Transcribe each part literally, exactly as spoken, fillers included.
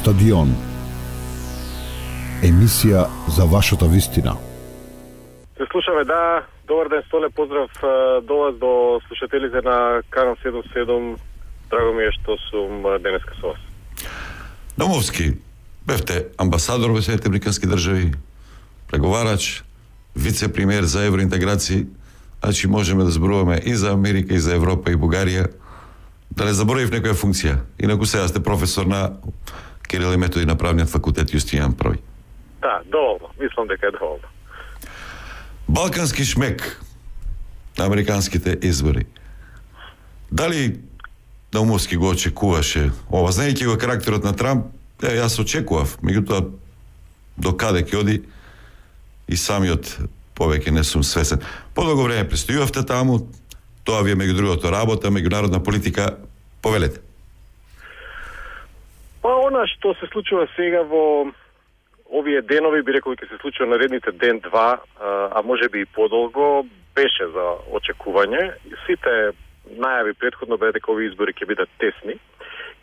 Стадион. Емисија за вашата вистина. Се слушаме, да. Добар ден, Столе, поздрав до вас, до слушателите на Канал седум седум. Драго ми е што сум денеска со вас. Домовски, бевте амбасадор во Соединетите Американски држави, преговарач, вице-премиер за евроинтеграција, значи можеме да зборуваме и за Америка, и за Европа, и Бугарија. Да не заборавив некоја функција. Инаку сега сте професор на Кирил и Методи на правниот факултет Јустинијан Први. Да, доволно. Мислам дека е доволно. Балкански шмек на американските избори. Дали Домовски го очекуваше ова? Знаејќи го карактерот на Трамп, е, јас очекував, меѓутоа до каде ќе оди и самиот повеќе не сум свесен. Подолго време престојувавте таму, тоа ви е меѓу другото работа, меѓународна политика, повелете. Па она што се случува сега во овие денови, би рекол ќе се случува наредните ден-два, а може би и подолго, беше за очекување. Сите најави предходно бе дека овие избори ќе бидат тесни.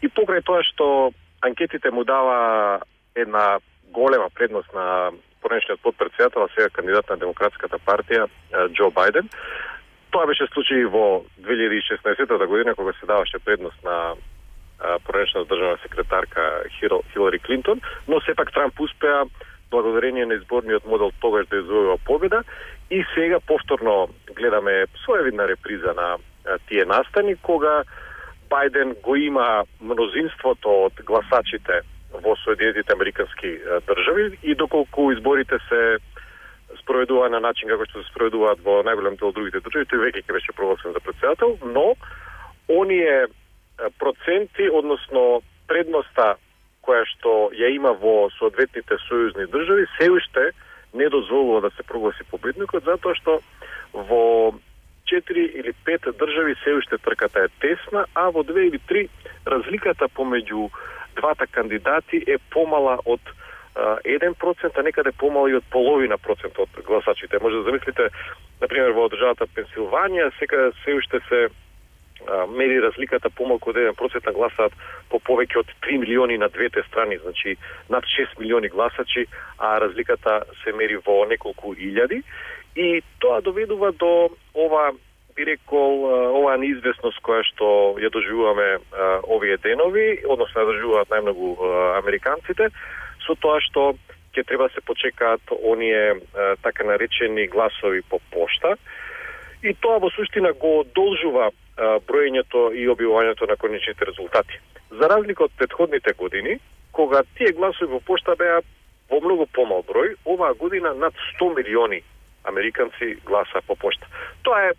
И покрај тоа што анкетите му дава една голема предност на поранешниот потпредседател, а сега кандидат на Демократската партија Џо Бајден. Тоа беше случај во две илјади и шеснаесетта година, кога се даваше предност на поранешната државна секретарка Хилари Клинтон, но сепак Трамп успеа благодарение на изборниот модел тогаш да извојува победа и сега повторно гледаме своевидна реприза на тие настани, кога Бајден го има мнозинството од гласачите во Соединетите Американски држави и доколку изборите се спроведува на начин како што се спроведуваат во најголем дел од другите држави, тој веќе ќе беше прогласен за претседател, но оние проценти, односно предноста која што ја има во соодветните сојузни држави, се уште не дозволува да се прогласи победникот, затоа што во четири или пет држави се уште трката е тесна, а во две или три разликата помеѓу двата кандидати е помала од еден процент, а некаде помала и од половина процент од гласачите. Може да замислите, например, во државата Пенсилванија, сега се уште се а, мери разликата помалку од еден процент, гласаат по повеќе од три милиони на двете страни, значи над шест милиони гласачи, а разликата се мери во неколку илјади. И тоа доведува до ова, би рекол, оваа неизвестност која што ја доживуваме а, овие денови, односно ја доживуваат најмногу а, американците, со тоа што ќе треба да се почекаат оние а, така наречени гласови по пошта. И тоа во суштина го одолжува а, броењето и објавувањето на конечните резултати. За разлика од претходните години, кога тие гласови по пошта беа во многу помал број, оваа година над сто милиони американци гласа по пошта. Тоа е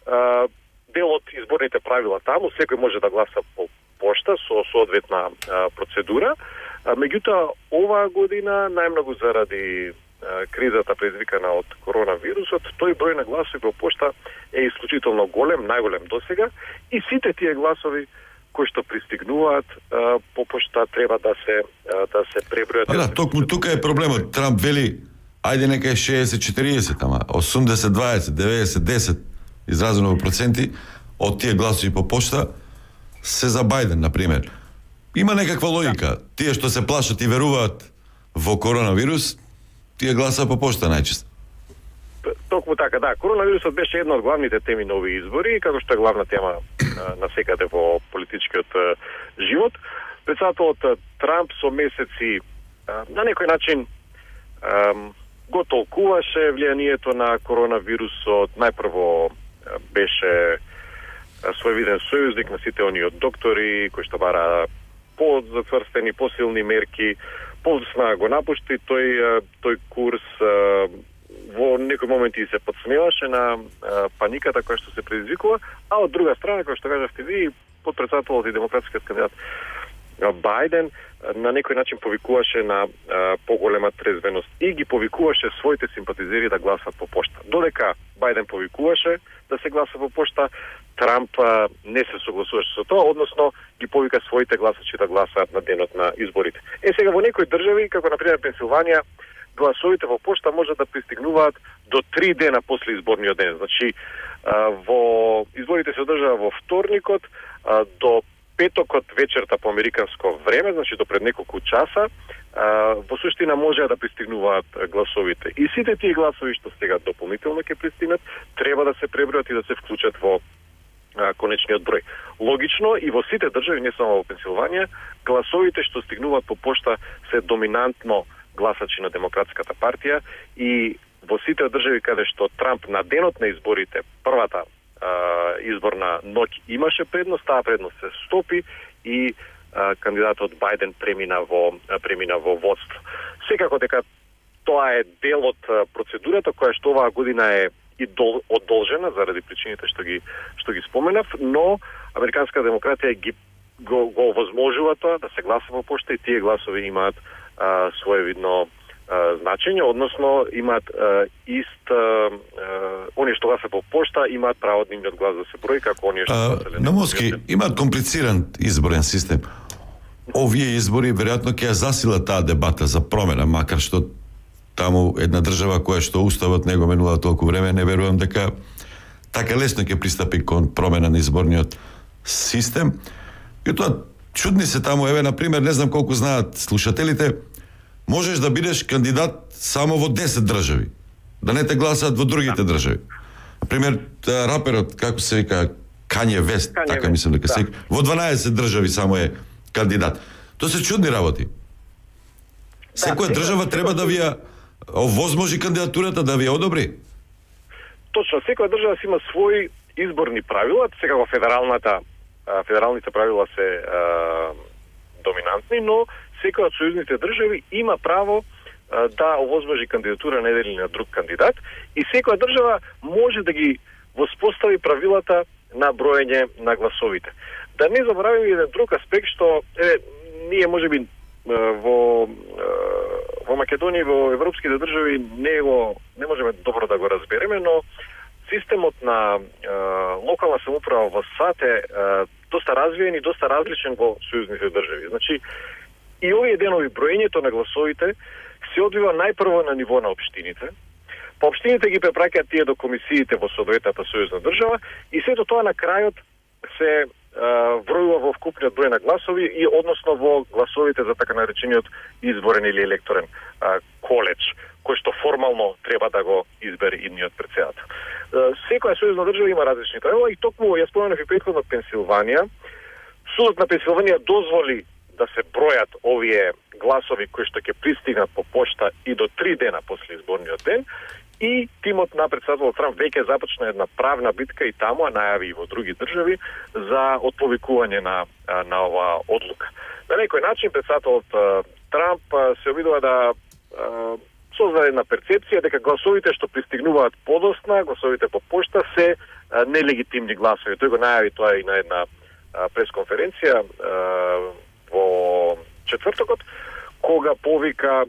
а, дел од изборните правила таму, секој може да гласа по пошта со соодветна а, процедура. А, меѓутоа, оваа година, најмногу заради а, кризата предизвикана од коронавирусот, тој број на гласови по пошта е исклучително голем, најголем досега, и сите тие гласови кои што пристигнуваат а, по пошта треба да се а, да се пребројат. Да, токму тука е проблемот. Трамп вели ајде нека е шеесет четириесет, ама осумдесет дваесет, деветдесет десет, изразено во проценти, од тие гласови по пошта се за Бајден, например. Има некаква логика. Тие што се плашат и веруваат во коронавирус, тие гласа по пошта најчесто. Токму така, да. Коронавирусот беше една од главните теми на овие избори, како што е главна тема на секаде во политичкиот живот. Председателот Трамп со месеци на некој начин го толкуваше влијанието на коронавирусот. Најпрво беше своевиден сојузник на сите оние доктори кои што бара по-затврстени, посилни мерки. Подосна го напушти тој тој курс, во некои моменти се подсмеваше на паниката која што се предизвикува, а од друга страна, која што кажавте ви, подпредседателот и демократскиот кандидат Бајден на некој начин повикуваше на а, поголема трезвеност и ги повикуваше своите симпатизери да гласат по пошта. Додека Бајден повикуваше да се гласа по пошта, Трамп а, не се согласуваше со тоа, односно ги повика своите гласачи да гласаат на денот на изборите. Е, сега во некои држави, како например Пенсилванија, гласовите во пошта може да пристигнуваат до три дена после изборниот ден. Значи, а, во изборите се одржаа во вторникот, а, до петокот вечерта по американско време, значи до пред неколку часа, во суштина може да пристигнуваат гласовите. И сите тие гласови што сега дополнително ќе пристигнат, треба да се пребројат и да се вклучат во а, конечниот број. Логично, и во сите држави, не само во Пенсилванија, гласовите што стигнуваат по пошта се доминантно гласачи на Демократската партија, и во сите држави каде што Трамп на денот на изборите, првата а, изборна ноќ имаше предност, таа предност се стопи и кандидатот Бајден премина во премина во водство. Секако дека тоа е дел од процедурата која што оваа година е и дол, одолжена заради причините што ги што ги споменав, но американска демократија ги го, го овозможува тоа да се гласа по пошта, и тие гласови имаат а, своевидно а, значење, односно имаат а, ист а, оние што гласа по пошта имаат право од нивниот глас да се брои како оние што гласале. На Моски имаат комплициран изборен систем. Овие избори веројатно ќе ја засилат таа дебата за промена, макар што таму една држава која што уставот не го менува толку време, не верувам дека така лесно ќе пристапи кон промена на изборниот систем. И тоа чудни се таму, еве на пример, не знам колку знаат слушателите, можеш да бидеш кандидат само во десет држави, да не те гласаат во другите држави. На пример, раперот, како се вика, Кање Вест, Kanye така West, мислам дека се, да. Во дванаесет држави само е кандидат. Тоа се чудни работи. Секоја држава треба да ви ја овозможи кандидатурата, да ви ја одобри. Точно, секоја држава си има своји изборни правила, сега во федералната федералните правила се а, доминантни, но секоја од сојузните држави има право а, да овозможи кандидатура на еден или на друг кандидат, и секоја држава може да ги воспостави правилата на броење на гласовите. Да не забораваме еден друг аспект што е, ние можеби во во Македонија и во европските држави не го не можеме добро да го разбереме, но системот на е, локална самоуправа во САД е, е доста развиен и доста различен во сојузните држави. Значи, и овие денови броењето на гласовите се одвива најпрво на ниво на општините. Па општините ги препраќаат тие до комисиите во соодветната сојузна држава, и сето тоа на крајот се вројува во вкупниот број на гласови, и односно во гласовите за така наречениот изборен или електорен а, коледж, кој што формално треба да го избере идниот претседател. Секоја сојузна држава има различни правила, и токму ја споменав и претходно Пенсилванија. Судот на Пенсилванија дозволи да се бројат овие гласови кои што ќе пристигнат по пошта и до три дена после изборниот ден, и тимот на претседателот Трамп веќе започна една правна битка и таму, а најави и во други држави, за отповикување на, на оваа одлука. На некој начин претседателот Трамп се обидува да создаде една перцепција дека гласовите што пристигнуваат подосна, гласовите по пошта, се нелегитимни гласови. Тој го најави тоа и на една пресконференција во четвртокот, кога повика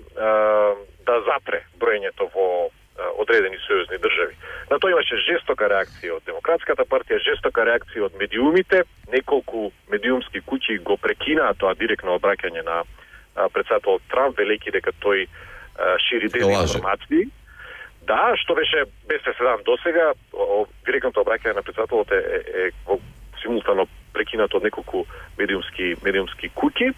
да запре броењето во одредени сојузни држави. На тоа имаше жестока реакција од Демократската партија, жестока реакција од медиумите. Неколку медиумски куќи го прекинаа тоа директно обраќање на претседателот Трамп, велејќи дека тој а, шири дезинформации. Да, што беше без преседан досега, директното обраќање на претседателот е, е, е симултано прекинато од неколку медиумски медиумски куќи,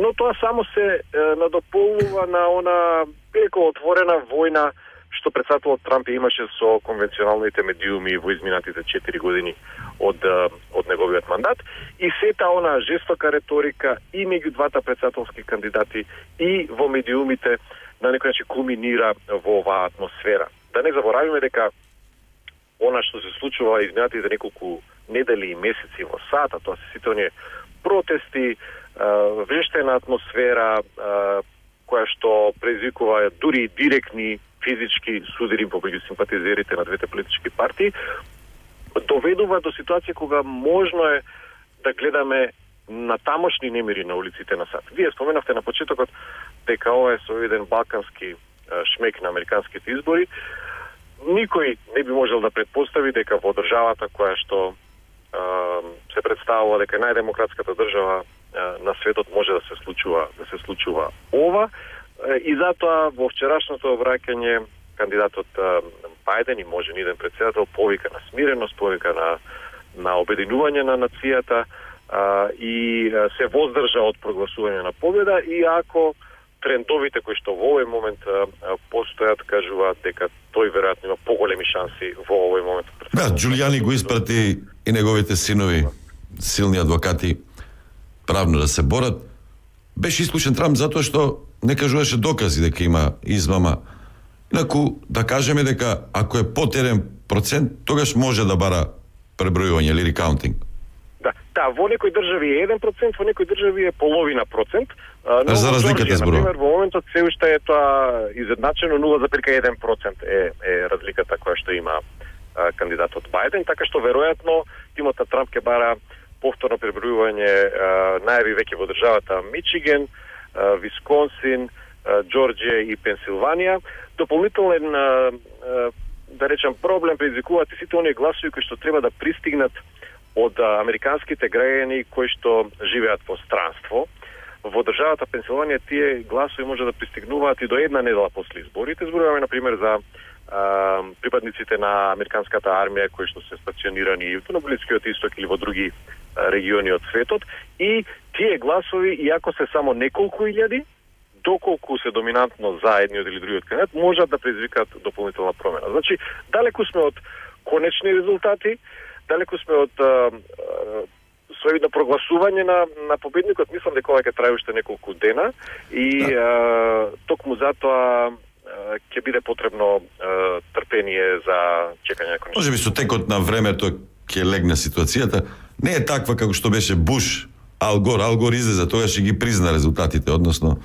но тоа само се е, надополнува на она преко отворена војна што претседателот Трамп имаше со конвенционалните медиуми во изминатите четири години од од неговиот мандат, и сета она жестока реторика и меѓу двата претседателски кандидати и во медиумите на некој начин кулминира во оваа атмосфера. Да не заборавиме дека она што се случува изминатите неколку недели и месеци во САД, а тоа се сите оние протести, вештена атмосфера која што предизвикува дури директни физички судири помеѓу симпатизерите на двете политички партии, доведува до ситуација кога можно е да гледаме на тамошни немири на улиците на САД. Вие споменавте на почетокот дека ова е со еден балкански шмек на американските избори. Никој не би можел да предпостави дека во државата која што се представува дека најдемократската држава на светот може да се случува да се случува ова. И затоа во вчерашното обраќање кандидатот Бајден и можен иден претседател повика на смиреност, повика на на обединување на нацијата, а, и а, се воздржа од прогласување на победа, и ако трендовите кои што во овој момент а, постојат кажуваат дека тој веројатно има поголеми шанси во овој момент. Да, Џулијани го испрати и неговите синови, силни адвокати, правно да се борат. Беше исклучен Трамп затоа што не кажуваше докази дека има измама. Инаку, да кажеме дека ако е под еден процент, тогаш може да бара пребројување или рекаунтинг. Да, да, во некои држави е еден процент, во некои држави е половина процент. Но за разликата зборува. Например, во моментот се уште е тоа изедначено нула зарез еден процент е, е разликата која што има а, кандидатот Бајден, така што веројатно тимот на Трамп ќе бара повторно пребројување. Најави веќе во државата Мичиген, а, Висконсин, а, Џорџија и Пенсилванија. Дополнителен, а, а, да речем, проблем предизвикуваат и сите оние гласови кои што треба да пристигнат од а, американските граѓани кои што живеат во странство. Во државата Пенсилванија тие гласови може да пристигнуваат и до една недела после изборите. Зборуваме, например, за а, припадниците на американската армија кои што се стационирани на Блискиот исток или во други а, региони од светот. И тие гласови, иако се само неколку илјади, доколку се доминантно за едниот или другиот кандидат, можат да предизвикаат дополнителна промена. Значи, далеку сме од конечни резултати, далеку сме од а, а, соевидно прогласување на, на победникот. Мислам дека ова ќе трае уште неколку дена и да. а, токму затоа ќе биде потребно а, трпение за чекање на конечни. Може би со текот на времето ќе легне ситуацијата. Не е таква како што беше Буш, Ал Гор. Ал Гор излезе, тогаш ги призна резултатите, односно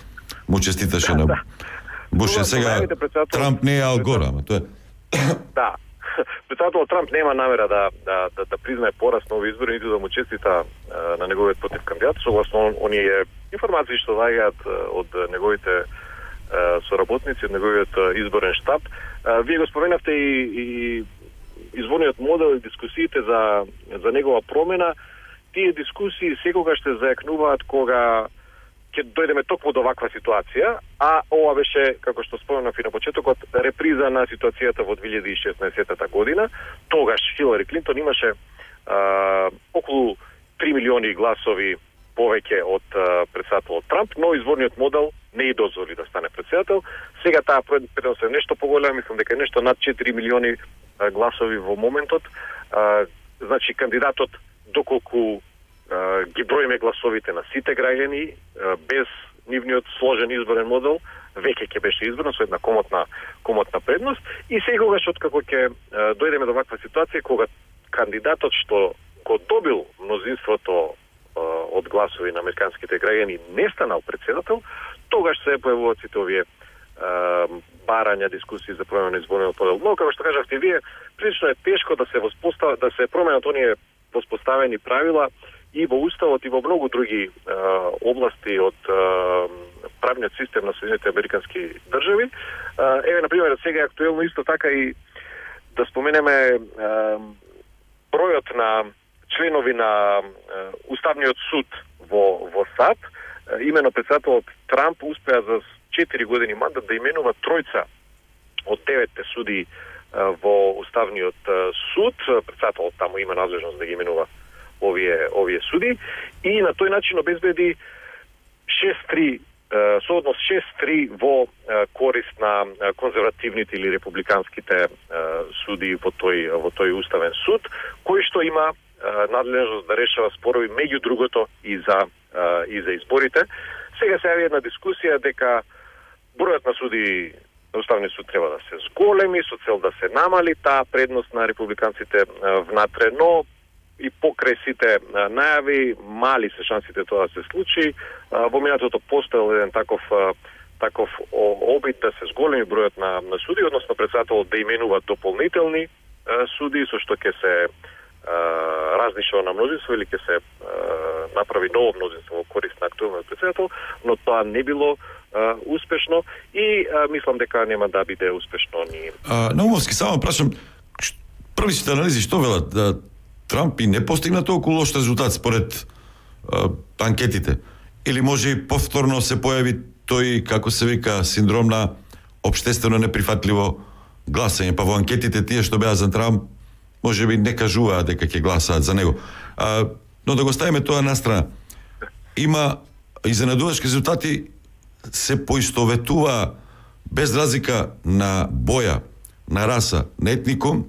му честиташе да, на да. Буш. Сега Трамп не е Ал Гор, ама тоа е. Да. Председателот Трамп нема намера да да да, да признае пораз на овие избори, ниту да му честита а, на неговиот против кандидат, согласно оние информации што доаѓаат од неговите а, соработници, од неговиот изборен штаб. А, вие го споменавте и, и изборниот модел и дискусиите за за негова промена. Тие дискусии секогаш ще зајакнуваат кога ќе дојдеме токму до ваква ситуација, а ова беше, како што споменав и на почетокот, реприза на ситуацијата во две илјади и шеснаесетта година. Тогаш Хилари Клинтон имаше а, околу три милиони гласови повеќе од а, председателот Трамп, но изборниот модел не ја дозволи да стане председател. Сега таа предност е нешто поголема, мислам дека е нешто над четири милиони а, гласови во моментот. А, значи, кандидатот, доколку Uh, ги броиме гласовите на сите граѓани, uh, без нивниот сложен изборен модел, веќе ќе беше избран со една комотна, комотна предност. И секогаш откако ќе uh, дојдеме до ваква ситуација, кога кандидатот што го добил мнозинството uh, од гласови на американските граѓани не станал председател, тогаш се појавуваат сите овие uh, барања, дискусии за промена на изборниот модел. Но, како што кажавте вие, прилично е тешко да се воспостават, да се променат оние воспоставени правила и во Уставот, и во многу други е, области од е, правниот систем на Соединените Американски држави. Е, еве, например, сега е актуелно исто така и да споменеме е, бројот на членови на е, Уставниот суд во, во САД. Е, имено председателот Трамп успеа за четири години мандат да именува тројца од деветте суди е, во Уставниот суд. Председателот таму има надлежност да ги именува овие овие суди и на тој начин обезбеди шест три со однос шест три во корист на конзервативните или републиканските суди во тој во тој уставен суд, кој што има надлежност да решава спорови меѓу другото и за и за изборите. Сега се јави една дискусија дека бројот на суди на Уставниот суд треба да се зголеми со цел да се намали таа предност на републиканците внатре, но и покрај сите најави, мали се шансите тоа да се случи. Во минатото постоел еден таков таков обид да се зголеми бројот на, на суди, односно председателот да именува дополнителни суди, со што ќе се разнишува на мнозинство или ќе се а, направи ново мнозинство во корист на актуелниот председател, но тоа не било а, успешно и а, мислам дека нема да биде успешно ни. А, Наумовски, само прашам, првите анализи што велат? Да, Трамп и не постигна толку лош резултат според а, анкетите? Или може и повторно се појави тој, како се вика, синдром на општествено неприфатливо гласање, па во анкетите тие што беа за Трамп може би не кажуваат дека ќе гласаат за него. А, Но да го ставиме тоа на страна. Има изненадувачки резултати, се поистоветува без разлика на боја, на раса, на етникум,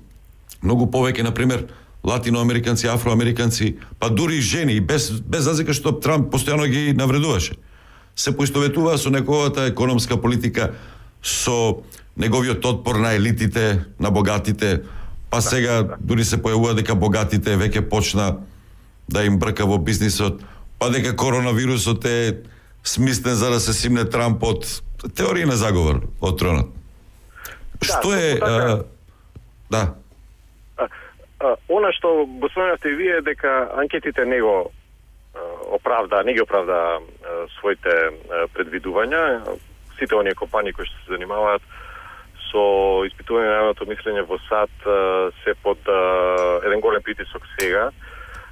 многу повеќе, например, латиноамериканци, афроамериканци, па дури и жени, и без, без разлика што Трамп постојано ги навредуваше. Се поистоветува со неговата економска политика, со неговиот отпор на елитите, на богатите, па сега дури се појавува дека богатите веќе почна да им брка во бизнисот, па дека коронавирусот е смислен за да се симне Трамп од теорија на заговор од тронот. Да, Што е... А, да. А, а, она што го споменавте и вие, дека анкетите не го а, оправда, не ги оправда а, своите а, предвидувања. Сите оние компании кои што се занимаваат со испитување на јавното мислење во САД а, се под а, еден голем притисок сега.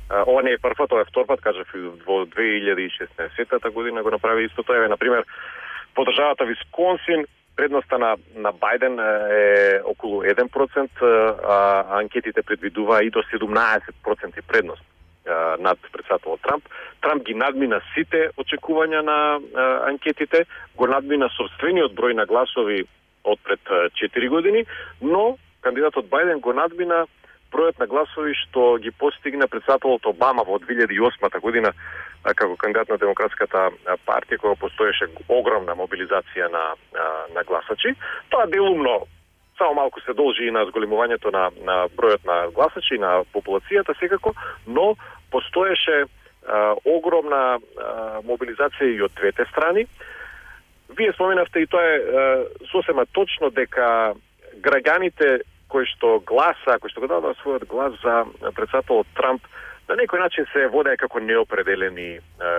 А, ова не е прв пат, ова е втор пат, кажав во две илјади и шеснаесетта година го направи исто тоа. Например, по државата Висконсин предноста на, на Бајден е околу еден процент, а анкетите предвидува и до седумнаесет проценти предност а, над председателот Трамп. Трамп ги надмина сите очекувања на а, анкетите, го надмина собствениот број на гласови од пред четири години, но кандидатот Бајден го надмина бројот на гласови што ги постигна председателот Обама во две илјади и осма година како кандидат на Демократската партија, кога постоеше огромна мобилизација на, на гласачи. Тоа делумно само малку се должи и на зголемувањето на, на бројот на гласачи и на популацијата секако, но постоеше а, огромна а, мобилизација и од двете страни. Вие споменавте и тоа е а, сосема точно дека граѓаните кои што гласа, кои што го дадоа својот глас за председателот Трамп, на некој начин се водеа како неопределени е,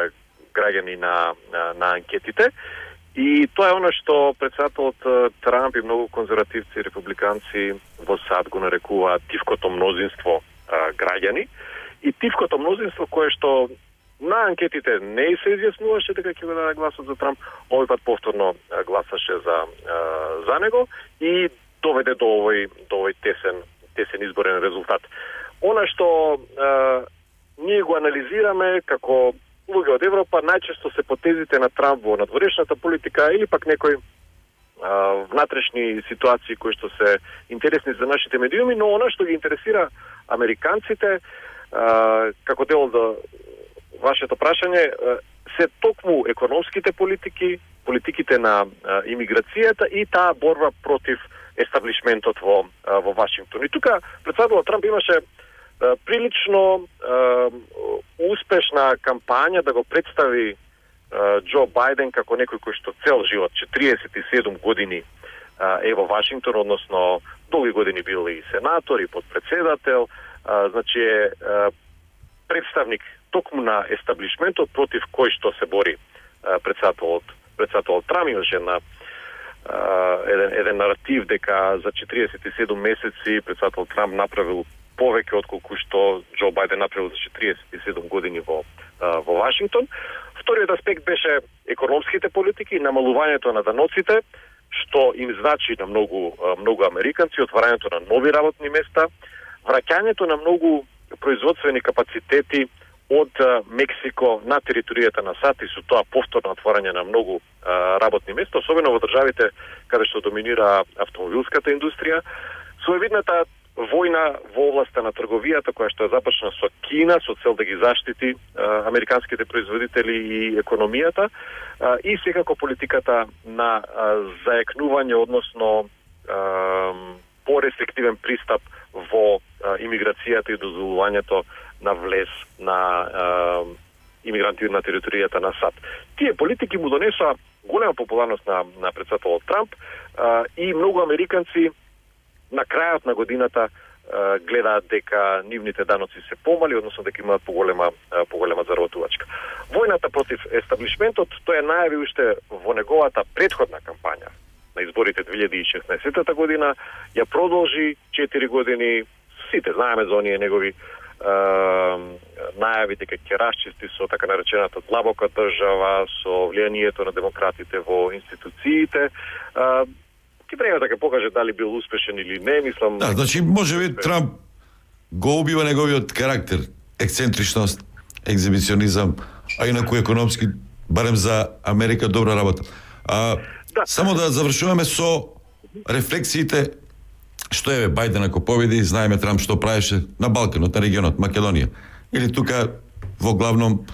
граѓани на, на, на анкетите. И тоа е оно што председателот Трамп и многу конзервативци и републиканци во САД го нарекуваат тивкото мнозинство е, граѓани. И тивкото мнозинство кое што на анкетите не се изјаснуваше дека ќе го даде гласот за Трамп, овој пат повторно гласаше за, е, за него и доведе до овој, до овој тесен, тесен изборен резултат. Она што е, ние го анализираме како луѓе од Европа, најчесто се потезите на Трамп во надворешната политика или пак некои а, внатрешни ситуации кои што се интересни за нашите медиуми, но она што ги интересира американците, а, како дел до вашето прашање, се токму економските политики, политиките на а, имиграцијата и таа борба против естаблишментот во, а, во Вашингтон. И тука председателот Трамп имаше прилично е, успешна кампања да го представи е, Џо Бајден како некој кој што цел живот, четириесет и седум години е, е во Вашингтон, односно долги години бил и сенатор и подпредседател, е, значи е, е представник токму на естаблишментот против кој што се бори е, председателот, председателот Трамп. Имаше една еден, еден наратив дека за четириесет и седум месеци председател Трамп направил повеќе отколку што Џо Бајден направил за четириесет и седум години во, во Вашингтон. Вториот аспект беше економските политики, намалувањето на даноците, што им значи на многу, многу американци, отварањето на нови работни места, враќањето на многу производствени капацитети од Мексико на територијата на САД и со тоа повторно отворање на многу работни места, особено во државите каде што доминира автомобилската индустрија. Своевидната војна во областа на трговијата, која што е започна со Кина, со цел да ги заштити а, американските производители и економијата, а, и секако политиката на а, заекнување, односно а, порестриктивен пристап во а, имиграцијата и дозволувањето на влез на а, имигранти на територијата на САД. Тие политики му донесоа голема популарност на, на председателот Трамп а, и многу американци на крајот на годината а, гледаат дека нивните даноци се помали, односно дека имаат поголема а, поголема заработувачка. Војната против естаблишментот, тој е најави уште во неговата претходна кампања на изборите две илјади и шеснаесетта година, ја продолжи четири години. Сите знаеме за оние негови а, најави дека ќе расчисти со така наречената длабока држава, со влијанието на демократите во институциите. А, Ки време да ќе покаже дали бил успешен или не, мислам... Да, значи, може би Трамп го убива неговиот карактер, ексцентричност, екзибиционизам, а инаку економски, барем за Америка, добра работа. А, да. Само да завршуваме со рефлексиите, што е Бајден ако победи, знаеме Трамп што правеше на Балканот, на регионот, Македонија. Или тука, во главном,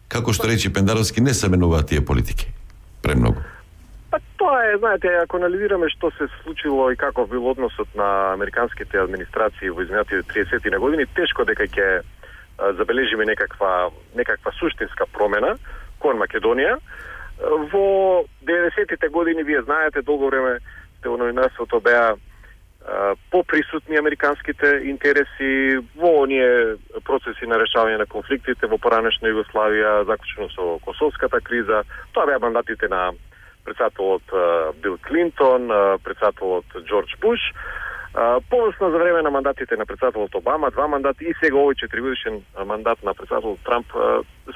како што речи Пендаровски, не се менуваат тие политики. Премногу. Па тоа е, знаете, ако анализираме што се случило и каков бил односот на американските администрации во изминатите триесетти години, тешко дека ќе забележиме некаква некаква суштинска промена кон Македонија. Во деветдесеттите години, вие знаете, долго време сте во новинарството беа поприсутни американските интереси во оние процеси на решавање на конфликтите во поранешна Југославија, заклучено со Косовската криза. Тоа беа мандатите на председателот Бил Клинтон, председателот Џорџ Буш. Повесно за време на мандатите на председателот Обама, два мандати и сега овој четиригодишен мандат на председателот Трамп,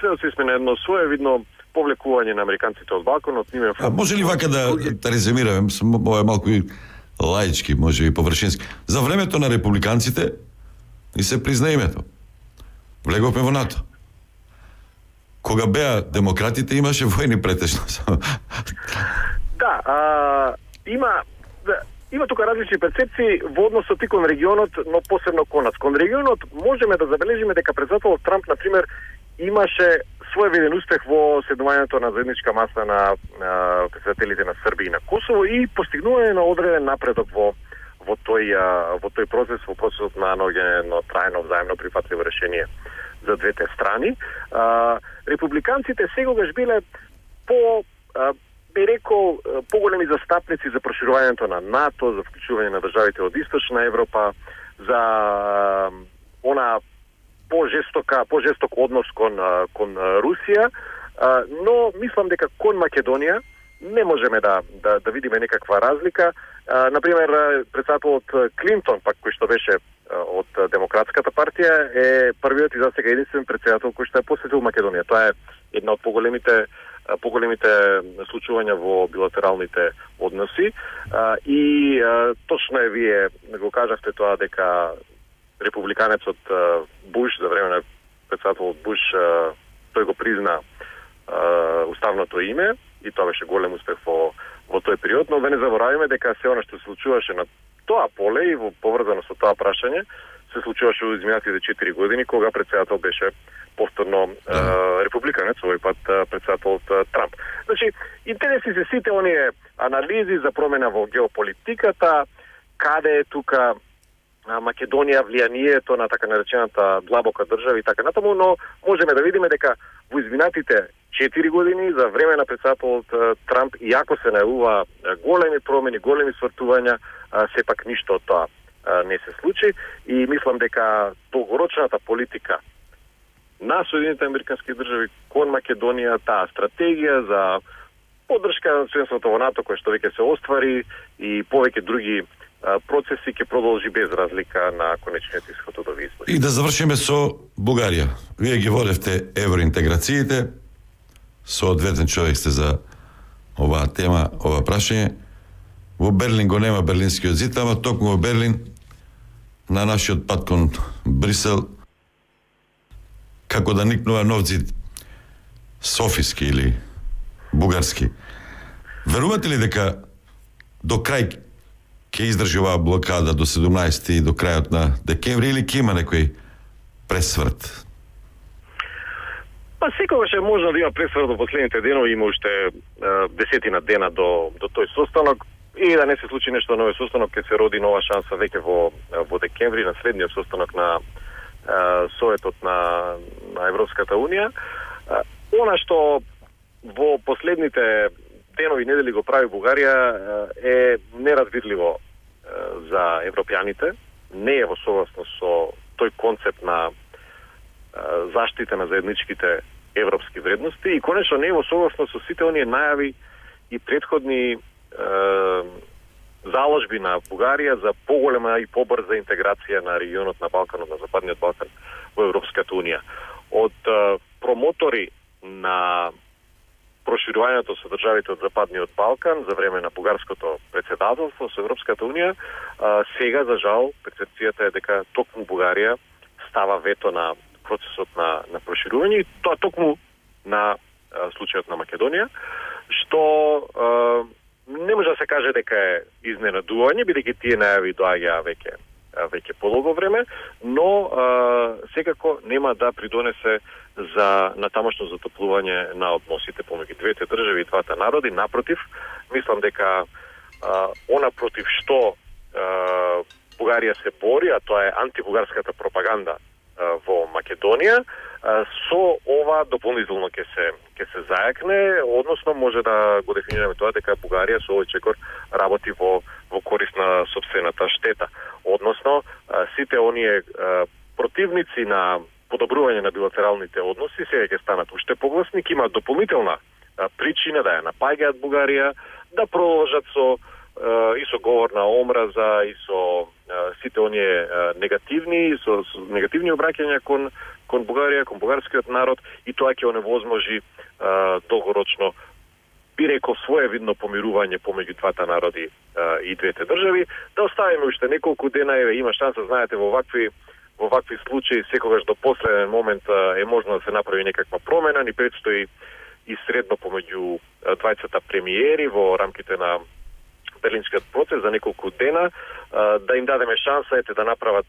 следно сме на едно своевидно повлекување на американците од Балканот. А може ли вака да, да резюмираме, ова е малку и лаички, може и површински. За времето на републиканците и се призна името. Влеговме во НАТО. Кога беа демократите, имаше војни претежно. Да, а, има да, има тука различни перцепции во односот и кон регионот, но посебно кон нас. Кон регионот можеме да забележиме дека председателот Трамп, на пример, имаше своевиден успех во седнувањето на заедничка маса на, на председателите на Србија и на Косово и постигнување на одреден напредок во во тој во тој процес, во процесот на наоѓање на трајно взаимно прифатливо решение за двете страни. А, републиканците сегогаш биле по а, би рекол поголеми застапници за проширувањето на НАТО, за вклучување на државите од Источна Европа, за а, она по-жестока, по-жесток однос кон кон Русија, но мислам дека кон Македонија не можеме да да, да видиме некаква разлика. На пример, председателот Клинтон, пак кој што беше од Демократската партија, е првиот и засега единствен председател кој што е посетил Македонија. Тоа е една од поголемите поголемите случувања во билатералните односи и точно е вие го кажавте тоа дека републиканецот Буш за време на председателот Буш тој го призна уставното име и тоа беше голем успех во во тој период, но да не заборавиме дека се она што се случуваше на тоа поле и во поврзано со тоа прашање се случуваше во изминатите четири години кога председател беше повторно да. републиканец, овој пат председателот Трамп. Значи, интересни се сите оние анализи за промена во геополитиката, каде е тука Македонија влијанието на така наречената длабока држава и така натаму, но можеме да видиме дека во изминатите четири години за време на председателот Трамп, иако се најавува големи промени, големи свртувања, сепак ништо од тоа не се случи и мислам дека долгорочната политика на Соединетите американски држави кон Македонија, таа стратегија за поддршка на членството во НАТО кој што веќе се оствари и повеќе други процеси ќе продолжи без разлика на конечниот исход од овие избори. И да завршиме со Бугарија. Вие ги водевте евроинтеграциите, со одветен човек сте за оваа тема, ова прашање. Во Берлин го нема Берлинскиот зид, ама токму во Берлин на нашиот пат кон Брисел како да никнува нов зид софиски или бугарски. Верувате ли дека до крај ќе издржи оваа блокада до седумнаесети до крајот на декември или ќе има некој пресврт? Па секогаш е можно да има пресврт во последните денови, има уште е, десетина дена до до тој состанок и да не се случи нешто ново состанок, ќе се роди нова шанса веќе во во декември на следниот состанок на е, Советот на на Европската унија. Е, она што во последните денови и недели го прави Бугарија е неразбирливо за европјаните, не е во согласно со тој концепт на заштита на заедничките европски вредности и конечно не е во согласно со сите оние најави и претходни е, заложби на Бугарија за поголема и побрза интеграција на регионот на Балканот, на Западниот Балкан во Европската унија. Од е, промотори на проширувањето со државите од Западниот Балкан за време на бугарското председателство со Европската унија, а, сега за жал перцепцијата е дека токму Бугарија става вето на процесот на на проширување, и тоа токму на а, случајот на Македонија, што а, не може да се каже дека е изненадување, бидејќи тие најави доаѓаа веќе веќе подолго време, но а, секако нема да придонесе за натамошно затоплување на односите помеѓу двете држави и двата народи. Напротив, мислам дека а, она против што а, Бугарија се бори, а тоа е антибугарската пропаганда а, во Македонија, а, со ова дополнително ќе се ќе се зајакне, односно може да го дефинираме тоа дека Бугарија со овој чекор работи во во корист на сопствената штета. Односно, а, сите оние а, противници на подобрување на билатералните односи сега ќе станат уште погласни, ќе имаат дополнителна а, причина да ја напаѓаат Бугарија, да продолжат со а, и со говор на омраза и со а, сите оние а, негативни со, со негативни обраќања кон кон Бугарија, кон бугарскиот народ, и тоа ќе оневозможи а, долгорочно, би рекол, своевидно помирување помеѓу двата народи а, и двете држави. Да оставиме уште неколку дена, еве, има шанса, знаете, во вакви во вакви случаи секогаш до последен момент а, е можно да се направи некаква промена, ни предстои и средно помеѓу двајцата премиери во рамките на Берлинскиот процес за неколку дена, а, да им дадеме шанса, ете, да направат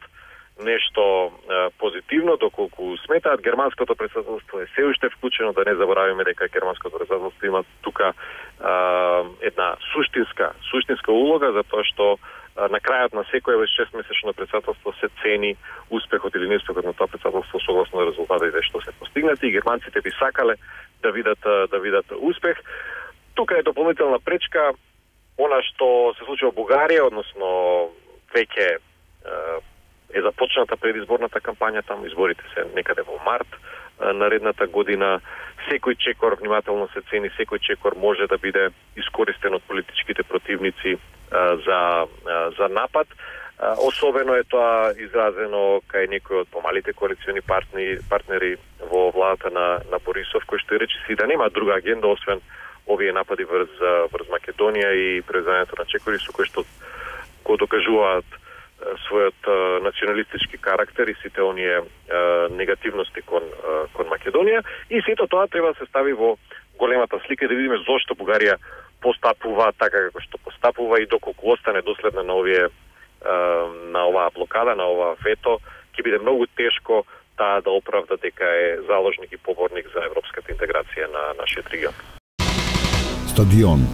нешто а, позитивно, доколку сметаат. Германското претседателство е се уште вклучено, да не заборавиме дека германското претседателство има тука а, една суштинска суштинска улога, затоа што а, на крајот на секој шестмесечно претседателство се цени успехот или неуспехот на тоа претседателство согласно на резултатите што се постигнати, и германците би сакале да видат да видат успех. Тука е дополнителна пречка она што се случи во Бугарија, односно веќе е започната предизборната кампања, таму изборите се некаде во март наредната година. Секој чекор внимателно се цени, секој чекор може да биде искористен од политичките противници а, за а, за напад. А, особено е тоа изразено кај некои од помалите коалициони партнери, партнери во владата на на Борисов, кој што рече си да нема друга агенда освен овие напади врз врз Македонија и презањето на чекори, со кои што го докажуваат својот а, националистички карактер и сите оние а, негативности кон а, кон Македонија, и сето тоа треба да се стави во големата слика, да видиме зошто Бугарија постапува така како што постапува и доколку остане доследна на овие а, на оваа блокада, на оваа вето, ќе биде многу тешко таа да оправда дека е заложник и поборник за европската интеграција на нашиот регион. Стадион.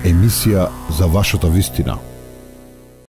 Емисија за вашата вистина.